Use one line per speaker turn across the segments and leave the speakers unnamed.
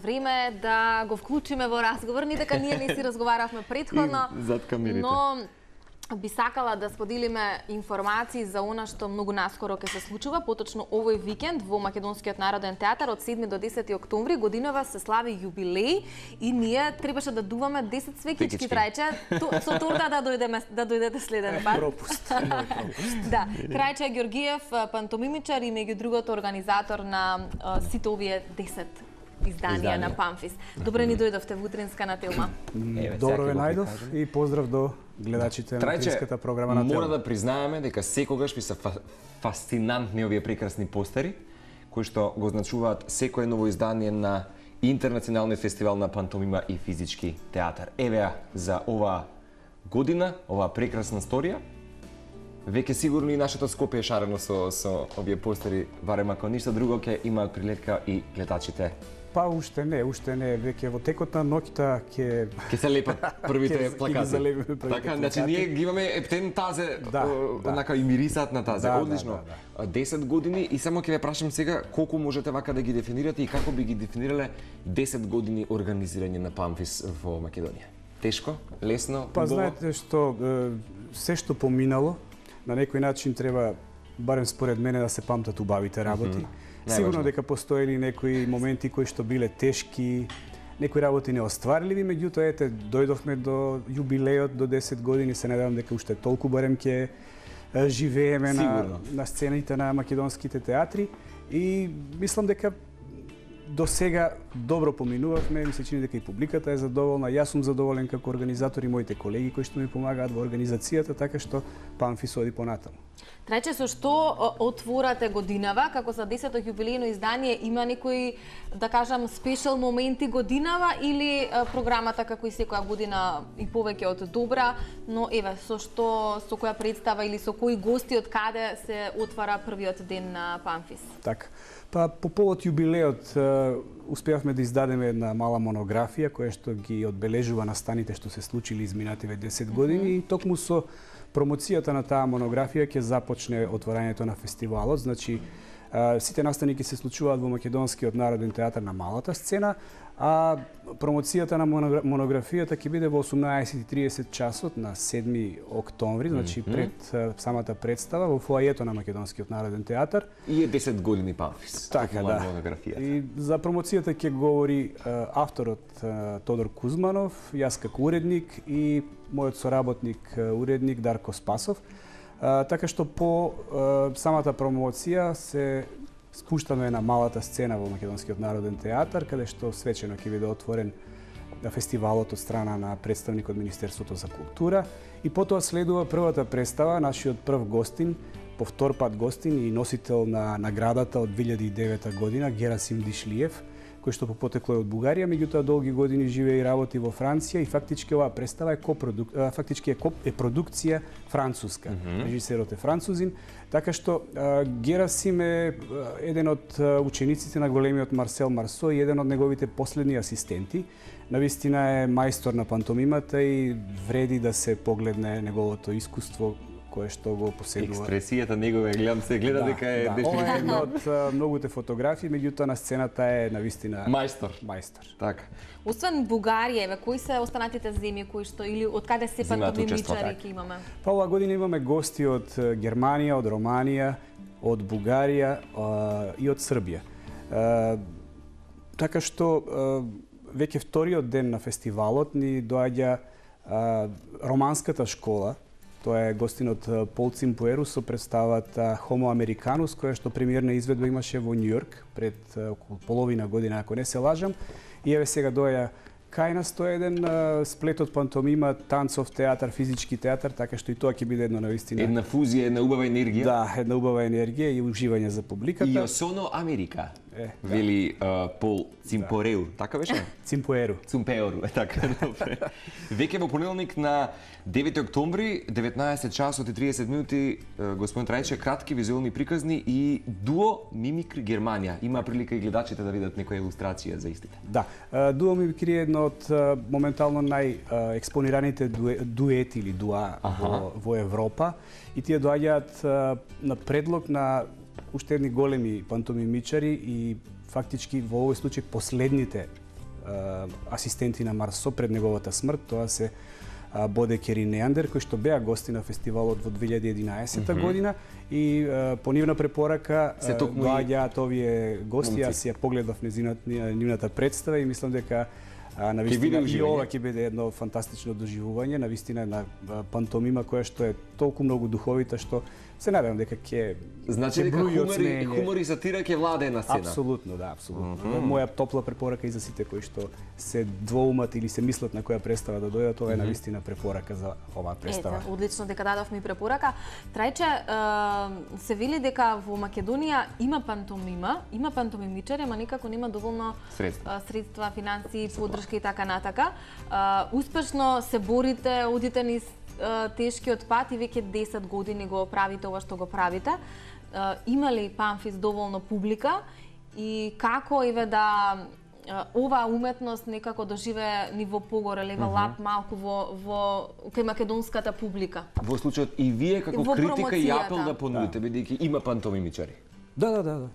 Време е да го вклучиме во разговор, не дека ние не си разговаравме претходно, но би сакала да споделиме информации за она што многу наскоро ќе се случува, поточно овој викенд во Македонскиот народен театар од 7 до 10 октомври годинава се слави јубилеј и ние требаше да дуваме 10 свекички трајче, со торта да дојдете следен пат.
Пропуст.
Да, Крајче Ѓоргиев, пантомимичар и меѓу другото организатор на сите овие 10 изданија на Памфис. Добре ни дојдовте во утринска на Телма.
Добро ве најдов и поздрав до гледачите на утринската програма на Телма.
Мора да признаеме дека секогаш ми се фасцинантни овие прекрасни постери кои што го означуваат секое ново издание на Интернационалниот фестивал на пантомима и физички театар. Еве ја за оваа година, оваа прекрасна сторија. Веќе сигурно и нашето Скопје е шарено со овие постери, барем ако ништо друго ќе имаат прилетка и гледачите.
Па уште не, веќе во текот на ноќта
ќе се лепат првите плакати. Така, значи ние ги имаме ептен тазе, онака и мирисаат на тазе. Одлично. 10 години и само ќе ве прашам сега колку можете вака да ги дефинирате и како би ги дефинирале 10 години организирање на Памфис во Македонија. Тешко, лесно,
Па знаете што се што поминало на некој начин треба, барем според мене, да се памтат убавите работи. Сигурно дека постоели некои моменти кои што биле тешки, некои работи неостварливи, меѓутоа ете дојдовме до јубилејот до 10 години, се надевам дека уште толку барем ќе живееме на сцените на македонските театри и мислам дека до сега добро поминувавме, ми се чини дека и публиката е задоволна, јас сум задоволен како организатор и моите колеги кои што ми помагаат во организацијата, така што Памфис оди понатаму.
Трајче, со што отворате годинава, како за 10-то јубилејно издание, има некои, да кажам, спешал моменти годинава или програмата како и секоја година и повеќе од добра, но еве, со која представа или со кои гости од каде се отвара првиот ден на Памфис?
Така. Па по повод јубилеот успеавме да издадеме една мала монографија која што ги одбележува настаните што се случили изминативе 10 години и токму со промоцијата на таа монографија ќе започне отворањето на фестивалот. Значи, сите настани ќе се случуваат во Македонскиот народен театар на малата сцена, а промоцијата на монографијата ќе биде во 18:30 часот на 7 октомври, значи пред самата представа во фоајето на Македонскиот народен театар.
И е 10 години Памфис.
Така, да.
Монографијата.
И за промоцијата ќе говори авторот Тодор Кузманов, јас како уредник и мојот соработник уредник Дарко Спасов. Така што по самата промоција се спуштаме на малата сцена во Македонскиот народен театар, каде што свечено ќе биде отворен фестивалот од страна на представник од Министерството за култура и потоа следува првата представа, нашиот прв гостин, по втор пат гостин и носител на наградата од 2009 година, Герасим Дишлиев, кој што по потекло е од Бугарија, меѓутоа долги години живее и работи во Франција и фактички оваа представа е продукција француска. Режисерот е французин, така што Герасим е еден од учениците на големиот Марсел Марсо и еден од неговите последни асистенти. Навистина е мајстор на пантомимата и вреди да се погледне неговото искуство кое што го поседува.
Експресијата негова, гледам се, гледа дека е дефинитивно.
Ова е една од многуте фотографии, меѓутоа на сцената е навистина
мајстор.
Така.
Освен Бугарија, кои се останатите земји кои што или од каде се пантомимичари ќе имаме?
Па оваа година имаме гости од Германија, од Романија, од Бугарија и од Србија. Така што веќе вториот ден на фестивалот ни доаѓа романската школа. Тоа е гостинот Пол Цимпуеру со представата Homo Americanus, која што премиерна изведба имаше во Њујорк пред околу половина година, ако не се лажам. И еве сега доаѓа кај нас тоа еден сплет од пантомима, танцов театар, физички театар, така што и тоа ќе биде едно навистина.
Една фузија, една убава енергија.
Да, една убава енергија и уживање за публиката.
И Осоно Америка. Вели Пол Цимпореу, така беше?
Цимпуеру,
така, добре. Веќе во понеделник на 9 октомври, 19 часот и 30 минути, господин Трајче, кратки визуелни приказни и дуо Мимикри Германија. Има прилика и гледачите да видат некоја илустрација за истите.
Да, дуо Мимикри е едно од моментално најекспонираните дуети или дуа во Европа и тие доаѓаат на предлог на уште едни големи пантомимичари и фактички во овој случај последните асистенти на Марсо пред неговата смрт, тоа се Бодекер и Неандер, кои што беа гости на фестивалот во 2011 година и по нивна препорака доаѓаат овие гости. Јас ја погледав нивната представа и мислам дека навистина и ова ќе биде едно фантастично доживување, навистина една пантомима која што е толку многу духовита што се надевам дека ќе
значи дека хумор и сатира ќе владее на сцена.
Апсолутно, да, апсолутно. Моја топла препорака и за сите кои што се двоумат или се мислат на која представа да дојдат, ова е навистина препорака за оваа представа.
Ете, одлично дека дадов ми препорака. Трајче, се вели дека во Македонија има пантомима, има пантомимичари, ама никако нема доволно средства, финансии, поддршка и така натака. Успешно се борите, одите низ тешкиот пат и веќе 10 години го правите ова што го правите. Има ли Памфис доволно публика и како еве да оваа уметност некако доживе ниво погоре, левел ап малку во кај македонската публика?
Во случајот и вие како критика и апел да понудите, бидејќи има пантомимичари.
Да.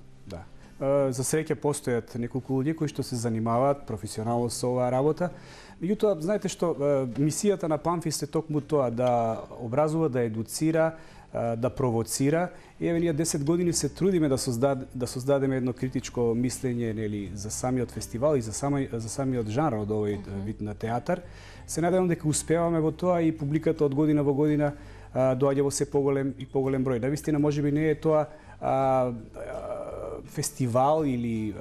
За среќа постојат неколку луѓе кои што се занимаваат професионално со оваа работа. Меѓутоа, знаете што, мисијата на Памфис е токму тоа, да образува, да едуцира, да провоцира. И еве ние 10 години се трудиме да создадеме едно критичко мислење, нели, за самиот фестивал и за самиот жанр од овој вид на театар. Се надевам дека успеваме во тоа и публиката од година во година доаѓа во се поголем и поголем број. Навистина, можеби не е тоа фестивал или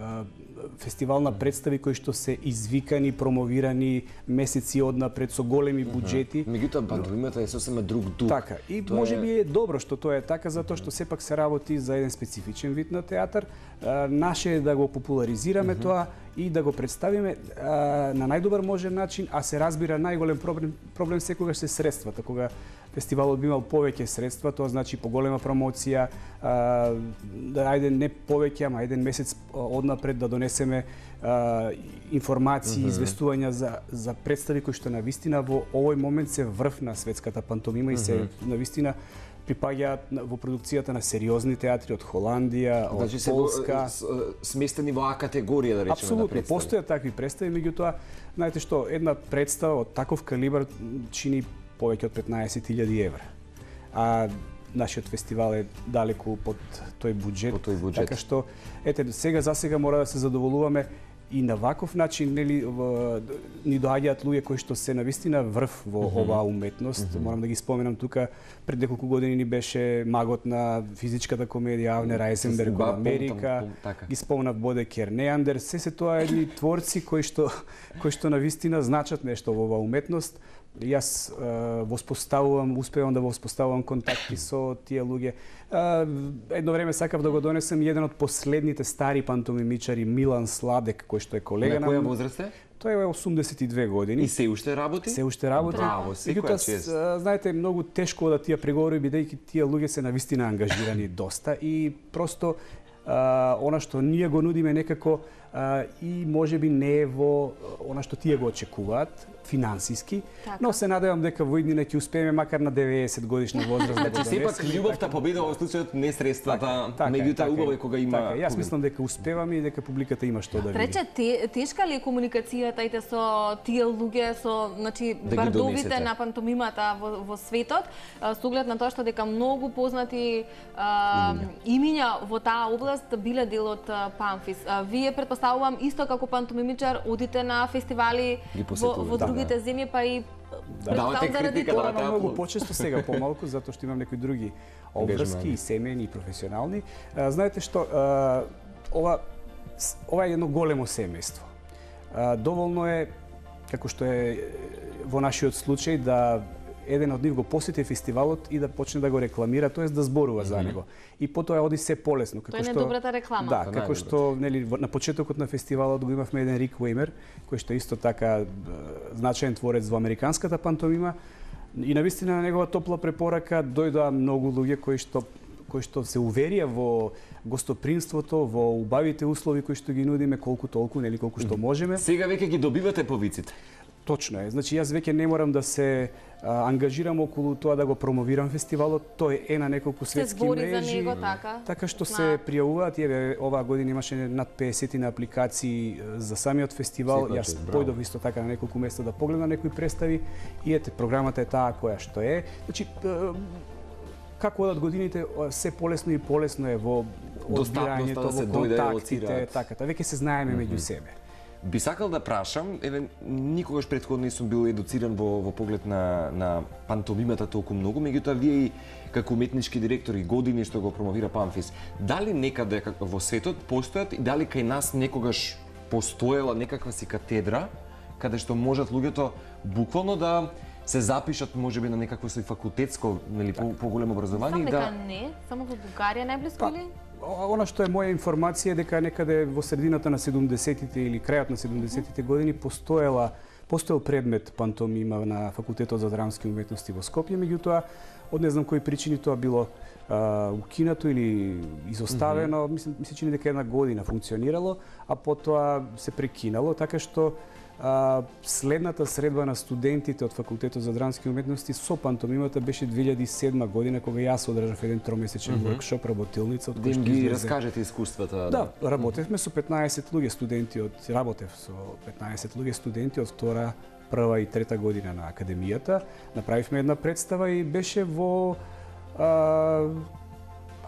фестивал на представи кои што се извикани, промовирани месеци однапред со големи буџети.
Меѓутоа пантомимата е сосема друг дух.
Така, и можеби е добро што тоа е така, затоа што сепак се работи за еден специфичен вид на театар. Наше е да го популаризираме тоа и да го представиме на најдобар можен начин, а се разбира најголем проблем секогаш се средствата. Кога фестивалот би имал повеќе средства, тоа значи поголема промоција, да ајде не повеќе, ама еден месец однапред да донесеме информации, известувања за представи кои што навистина во овој момент се врв на светската пантомима и се навистина припаѓаат во продукцијата на сериозни театри од Холандија, од Полска.
Сместени во А категорија, да речеме.
Апсолутно, постојат такви представи, меѓутоа, знаете што, една представа од таков калибар чини повеќе од 15.000 евра. А нашиот фестивал е далеку под тој буџет. Така што, ете, сега мора да се задоволуваме и на ваков начин, нели, ни доаѓаат луѓе кои што се навистина врв во оваа уметност. Морам да ги споменам тука, пред неколку години ни беше магот на физичката комедија Авнер Айзенберг од Америка. Ги спомнав Бодекер, Неандер, се тоа едни творци кои што навистина значат нешто во оваа уметност. Јас успевам да воспоставувам контакти со тие луѓе. Едно време сакав да го донесем еден од последните стари пантомимичари, Милан Сладек, кој што е колега на...
На која возраст е?
Тој е 82 години.
И се уште работи?
Се уште работи.
Браво, секоја чест.
Знаете, многу тешко да тие преговори, бидејќи тие луѓе се навистина ангажирани доста и просто она што ние го нудиме некако и можеби не е во она што тие го очекуваат финансиски, но се надевам дека во иднина ќе успееме макар на 90 годишна возраст да го донесеме.
Сепак љубовта победува во случајот, не средствата, меѓутоа убаво е кога има.
Јас мислам дека успеваме и дека публиката има што да види.
Рече, тешка ли е комуникацијата со тие луѓе, со, значи, бардовите на пантомимата во светот, со оглед на тоа што дека многу познати имиња во таа област биле дел од Памфис. Вие претпоставувам исто како пантомимичар одите на фестивали во другите земји, па и заради тоа.
Многу почесто, сега помалку, затоа што имам некои други обврски и семејни и професионални. Знаете што, ова е едно големо семејство. Доволно е, како што е во нашиот случај, да еден од нив го посети фестивалот и да почне да го рекламира, тоест да зборува за него. И потоа оди се полесно.
Тоа е најдобрата реклама.
Да, како што на почетокот на фестивалот го имавме еден Рик Уеймер, кој што исто така значаен творец во американската пантомима. И навистина на негова топла препорака дојдоа многу луѓе кои што се уверија во гостопримството, во убавите услови кои што ги нудиме колку толку, нели колку што можеме.
Сега веќе ги добивате повиците.
Точно е. Значи, јас веќе не морам да се ангажирам околу тоа да го промовирам фестивалот. Тој е на неколку светски мрежи.
Се збори за него, така?
Така што се пријавуваат. Оваа година имаше над 50 на апликации за самиот фестивал. Јас појдов исто така на неколку места да погледам некои представи. И ете, програмата е таа која што е. Значи, како одат годините, се полесно и полесно е во одбирањето, во контактите, така. Веќе се знаеме меѓу себе.
Би сакал да прашам, никогаш претходно не сум бил едуциран во поглед на пантомимата толку многу, меѓутоа вие и како уметнички директори години што го промовира Памфис, дали некаде во светот постојат и дали кај нас некогаш постоела некаква си катедра каде што можат луѓето буквално да се запишат можеби на некакво свој факултетско, нели, поголемо образование
и да не, само во Бугарија најблиску или?
Она што е моја информација е дека некаде во средината на 70-тите или крајот на 70-тите години постоел предмет пантомима на Факултетот за драмски уметности во Скопје, меѓутоа од не знам кои причини тоа било укинато или изоставено, ми се чини дека една година функционирало, а потоа се прекинало, така што следната средба на студентите од Факултетот за драмски уметности со пантомимата беше 2007 година, кога јас одржав еден тромесечен воркшоп, работилница, од кој што
ги раскажете искуствата.
Да, работевме со 15 луѓе студенти од втора, прва и трета година на академијата. Направивме една представа и беше во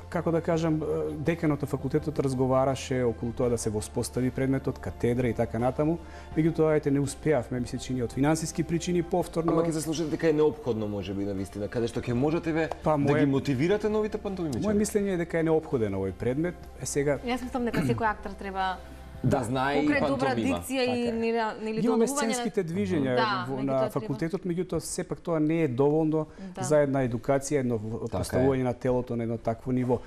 како да кажам, деканот на факултетот разговараше околу тоа да се воспостави предметот, катедра и така натаму. Меѓутоа, не успеавме, ми се чини од финансиски причини повторно.
Ама ќе се слушате дека е неопходно можеби на вистина, каде што ќе можете да ги мотивирате новите пантомимичари.
Моје мислење е дека е неопходен овој предмет. Сега
јас мислам дека секој актер треба
да знае и пантомима.
Добра дикција и нели
имаме сценските движења на факултетот, меѓутоа сепак тоа не е доволно за една едукација, едно поставување на телото на едно такво ниво.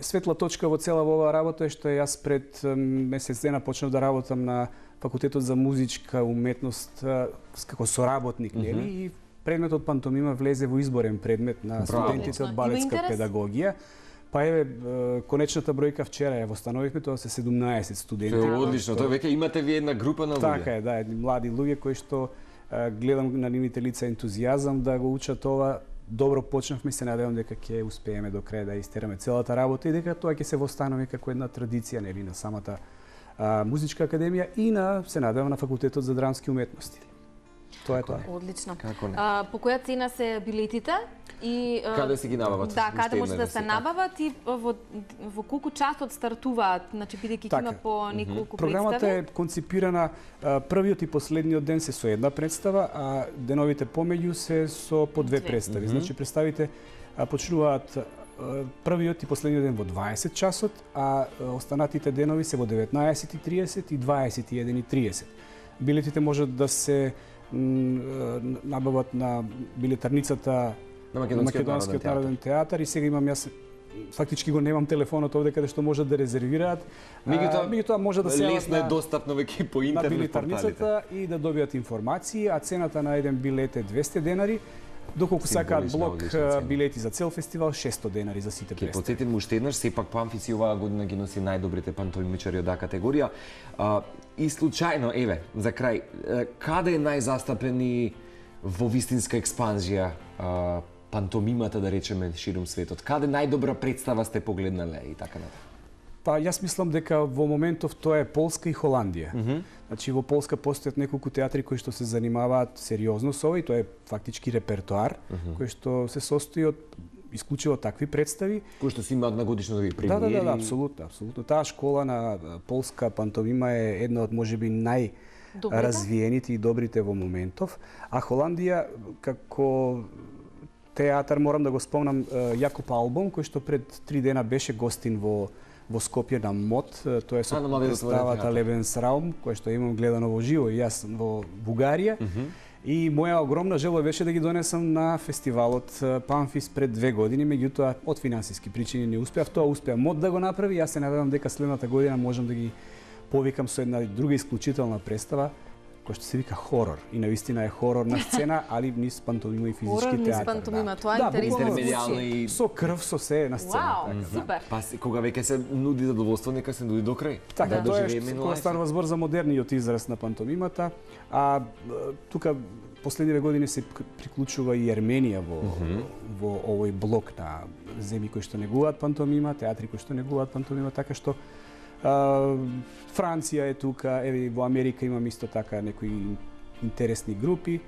Светла точка во цела оваа работа е што јас пред месец дена почнав да работам на Факултетот за музичка уметност како соработник, нели, и предметот пантомима влезе во изборен предмет на студентите од балетска педагогија. Па еве, конечната бројка вчера ја востановивме, тоа се 17 студенти.
Тоа е одлично, тоа веќе имате ви една група на луѓе.
Така е, да, едни млади луѓе кои што гледам на нивните лица ентузијазам да го учат ова. Добро почнавме и се надевам дека ќе успееме до крај да истераме целата работа и дека тоа ќе се востанови како една традиција, нели, на самата музичка академија и се надевам на Факултетот за драмски уметности. Тоа е тоа.
Одлично. По која цена се билетите? И
каде се ги набават?
Да, каде може да се набават и во колку часот стартуваат, значи бидејќи има по неколку представи.
Програмата е конципирана, првиот и последниот ден се со една представа, а деновите помеѓу се со по две представи. Значи представите почнуваат првиот и последниот ден во 20 часот, а останатите денови се во 19:30 и 21:30. Билетите можат да се набават на билетарницата на Македонскиот народен театар и сега имам јас фактички го немам телефонот овде каде што можат да резервираат. Меѓутоа може да се
лесно е достапно веќе по интернет
на билетарницата и да добијат информации, а цената на еден билет е 200 денари. Доколку сакаат блок билети за цел фестивал, 600 денари за сите представи.
Ќе потсетим уште еднаш, сепак Памфис и оваа година ги носи најдобрите пантомимичари од А категорија. И случајно, еве, за крај, каде е најзастапени во вистинска експанзија пантомимата, да речеме, ширум светот? Каде најдобра представа сте погледнале и така натаму?
Па јас мислам дека во моментов тоа е Полска и Холандија. Значи во Полска постојат неколку театри кои што се занимаваат сериозно со ова и тоа е фактички репертоар кој што се состои од исклучиво такви представи
кои што се имаат на годишнови премиери.
Да, апсолутно. Таа школа на полска пантомима е една од можеби најразвиените и добрите во моментов, а Холандија како театар морам да го спомнам Јакоб Албом кој што пред 3 дена беше гостин во Скопје на МОД, тоа е со представата Лебенсраум, која што имам гледано во живо и јас во Бугарија. И моја огромна желба беше да ги донесам на фестивалот Памфис пред 2 години, меѓутоа од финансиски причини не успеав. Тоа успеа МОД да го направи, јас се надевам дека следната година можам да ги повикам со една друга исклучителна представа. кој што се вика хорор. И навистина е хорор на сцена, али низ пантомима и физички театар.
Хорор низ пантомима, тоа е интересно звучи.
Со крв, со се на сцена.
Вау, супер.
Па кога веќе се нуди задоволство, нека се нуди до крај.
Така, тоа е кога станува збор за модерниот израз на пантомимата, а тука последниве години се приклучува и Ерменија во овој блок на земји кои што негуваат пантомима, театри кои што негуваат пантомима, така што Франција е тука, еве во Америка имам исто така некои интересни групи.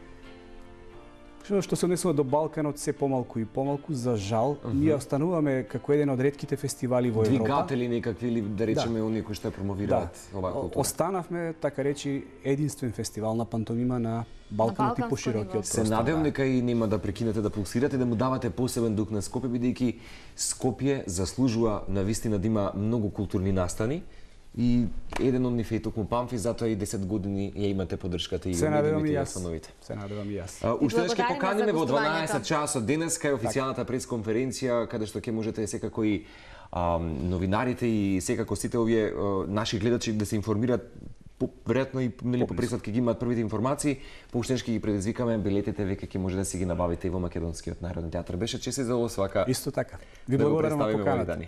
Што се однесува до Балканот се помалку и помалку, за жал, ние остануваме како еден од ретките фестивали во Европа.
Двигатели некакви или да речеме оние кои што промовираат оваа култура.
Останавме, така речи, единствен фестивал на пантомима на Балканот и поширокиот простор.
Се надевам дека и нема да прекинете да пулсирате, да му давате посебен дух на Скопје, бидејќи Скопје заслужува навистина да има многу културни настани. И еден од нив е токму Памфи, затоа и 10 години ја имате поддршката и медиумите и установите.
Се надевам и јас.
Уште ќе поканиме во 12 часот денеска е официјалната пресконференција каде што ќе можете секако и новинарите и секако сите овие наши гледачи да се информираат веројатно и по пресот ќе ги имаат првите информации, поуштенски ги предизвикаме, билетите веќе ќе може да си ги набавите и во Македонскиот народен театар. Беше чест и задоволство вака.
Исто така. Ви благодарам на поканата.